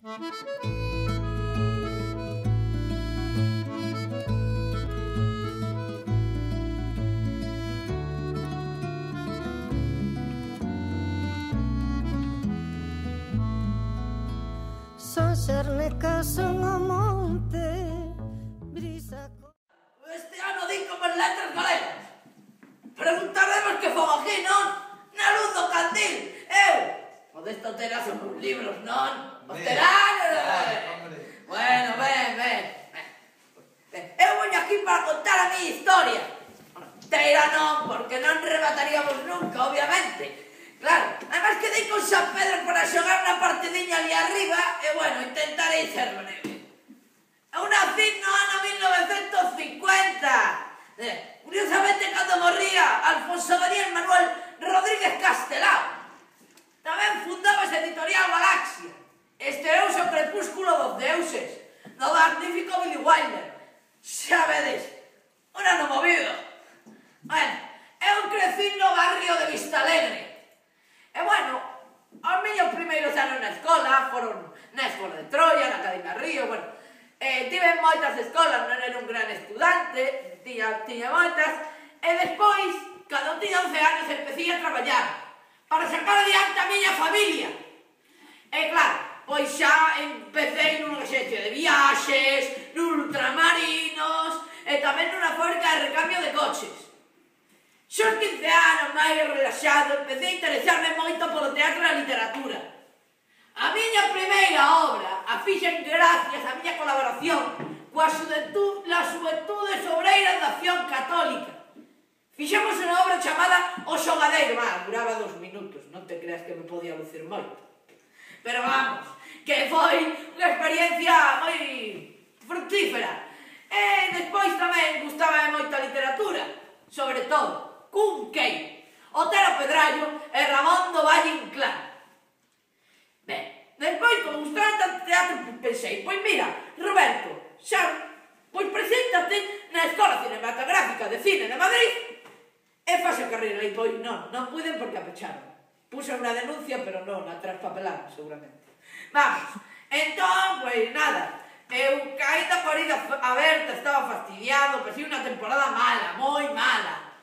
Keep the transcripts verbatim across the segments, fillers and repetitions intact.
Son xernecas son o monte brisa. Este ano din como as letras galegas. Preguntaremos que fogo aquí, non? Na luz do candil. Eu, o desto terá son os libros, non? Os terán. Bueno, ben, ben. Eu voño aquí para contar a miña historia. Teira non, porque non remataríamos nunca, obviamente. Claro, además quedei con San Pedro para xogar unha partidiña ali arriba e, bueno, intentarei ser breve. Eu nací no ano mil novecentos cincuenta. Eh, curiosamente, cando morría Alfonso Daniel Manuel Rodríguez Castelao, tamén fundaba esa editorial Galaxia. Estreouse o Crepúsculo dos Deuses, no magnífico Billy Wilder. Xa vedes, un ano movido. Bueno, eu crecí no barrio de Vistalegre. E, bueno, os meus primeiros anos na escola foron na Escola de Troia, na Academia Río, bueno, eh, tive moitas escolas, non era un gran estudante, tiña, tiña moitas, e despois, cando tiña once anos, empecé a traballar para sacar adiante a miña familia. E, claro, pois xa empecé nunha agencia de viaxes, nun ultramarinos, e tamén nunha fábrica de recambio de coches. Xos quince anos máis relaxado, empecé a interesarme moito polo teatro e a literatura. A miña primeira obra a fixen gracias á miña colaboración coa Xuventude, las Xuventudes Obreiras da Acción Católica. Fixemos unha obra chamada O Xogadeiro, ah, duraba dos minutos, non te creas que me podía lucir moito. Pero vamos, que foi unha experiencia moi fructífera. E despois tamén gustaba moito a literatura, sobre todo Cunqueiro, Otero Pedrallo e Ramón do Valle Inclán. Ben, despois, como gustaba tanto teatro, pensei, pois mira, Roberto, xa, pois preséntate na Escola Cinematográfica de Cine de Madrid e faz a carreira. E pois non, non puiden porque a pecharon. Puse unha denuncia, pero non, a traspapelaron seguramente. Vamos, entón, pois nada, eu caída por ida aberta, estaba fastidiado, pensei unha temporada mala, moi mala.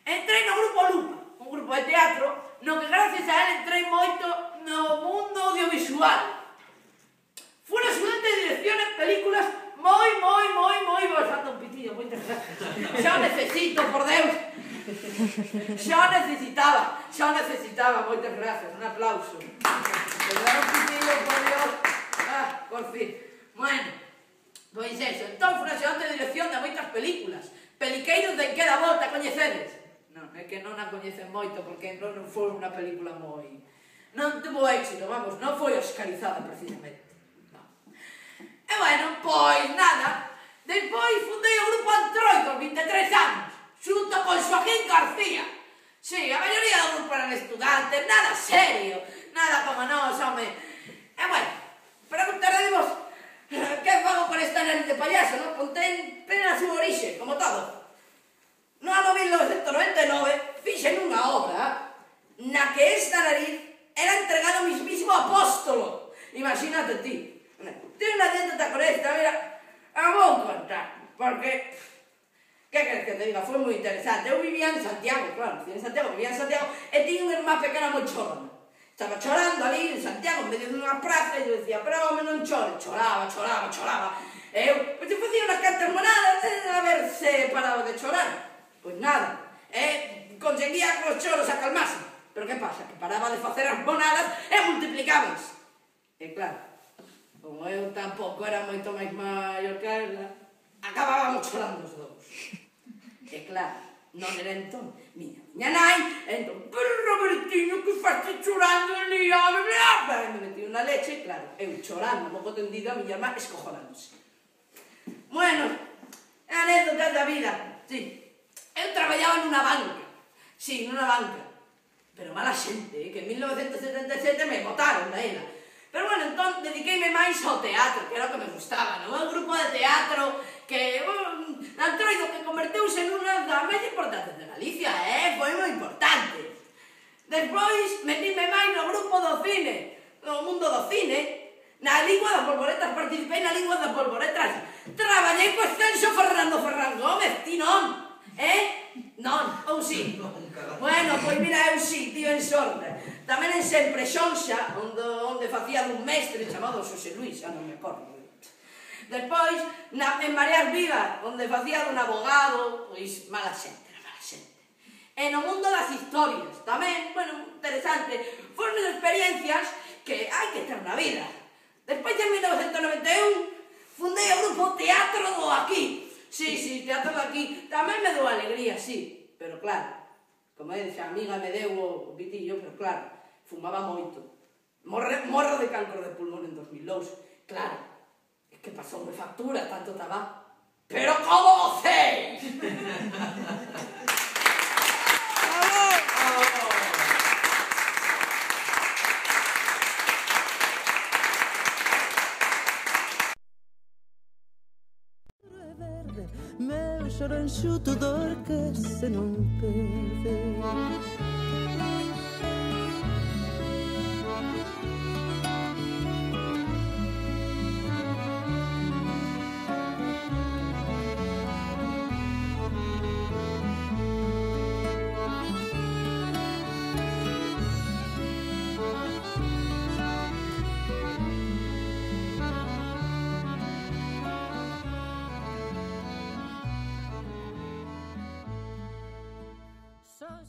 Entrei no Grupo Lupa, un grupo de teatro, no que gracias a él entrei moito no mundo audiovisual. Fui estudante de dirección en películas moi, moi, moi, moi... Vou saltar un pitillo, moitas gracias. Xa o necesito, por Deus. Xa o necesitaba, xa o necesitaba, moitas gracias. Un aplauso. Me dá un pitillo, por Dios. Ah, por fin. Bueno, pois eso. Entón, fui estudante de dirección de moitas películas. Peliqueiros de En Queda Volta, coñecedes? Non, é que non a coñecen moito, porque non foi unha película moi... Non tuvo éxito, vamos, non foi oscarizada precisamente. Non. E, bueno, pois nada. Despois fundei o Grupo Antroid aos vinte e tres anos, xunto con Xoaquín García. Si, a maioría do grupo eran estudantes, nada serio, nada como nós, home. E, bueno, preguntaremos que fago con esta nariz de payaso, non? Contén pena a súa orixe, como todo. No ano mil novecentos noventa e nove fixen unha obra na que esta nariz era entregado ao mismísimo apóstolo. Imagínate ti. Tiene unha anécdota con esta, mira, a vou contar, porque, que queres que te diga, foi moi interesante. Eu vivía en Santiago, claro, en Santiago, vivía en Santiago, e tiña unha irmá pequena moi chorona. Estaba chorando ali en Santiago, en medio dunha praza, e eu dicía, pero home, non chore. Choraba, choraba, choraba. E eu, pois, eu facía unhas cantas monadas a ver se paraba de chorar. Pois nada, eh, conseguía que os choros acalmasen. Pero que pasa? Que paraba de facer as monadas e multiplicábanse. E claro, como eu tampouco era moito máis maior que ela, acabábamos chorando os dous. E claro, non era entón miña miña nai, entón, pero Robertiño, que faste chorando ali, home, me metí unha leche, claro, eu chorando, pouco tendido, a miña irmá escojonándose. Bueno, anécdotas da vida, sí. Eu traballaba nunha banca, sí, nunha banca, pero mala xente, que en mil novecentos setenta e sete me botaron da ela. Pero, bueno, entón, dediqueime máis ao teatro, que era o que me gustaba, non? Un grupo de teatro que, bueno, Antroido, que converteuse nunha das máis importantes de Galicia, eh? Foi moi importante. Despois, metíme máis no grupo do cine, no mundo do cine, Na lingua das polvoretas, participei na lingua das polvoretas. Traballei co extenso Fernando Ferran Gómez, ti non? Eh? Non, ou si? Bueno, pois mira, eu si, tío, en sorte. Tamén en sempre Xonxa, onde, onde facía dun mestre chamado Xosé Luis, xa non me acordo. Despois, na, en Mareas Vivas, onde facía dun abogado, pois mala xente, era mala xente. E no mundo das historias, tamén, bueno, interesante, foron experiencias que hai que ter na vida. Despois, en mil novecentos noventa e un, fundei o grupo Teatro do Aquí. Sí, sí, Teatro do Aquí. Tamén me deu alegría, sí, pero claro, como é, xa amiga me deu o pitillo, pero claro, fumaba moito. Morre, morro de cancro de pulmón en dos mil dous, claro. Que pasoume factura tanto tabaco. Pero como vocéis! Meu choro enxuto dor que se non perde. Son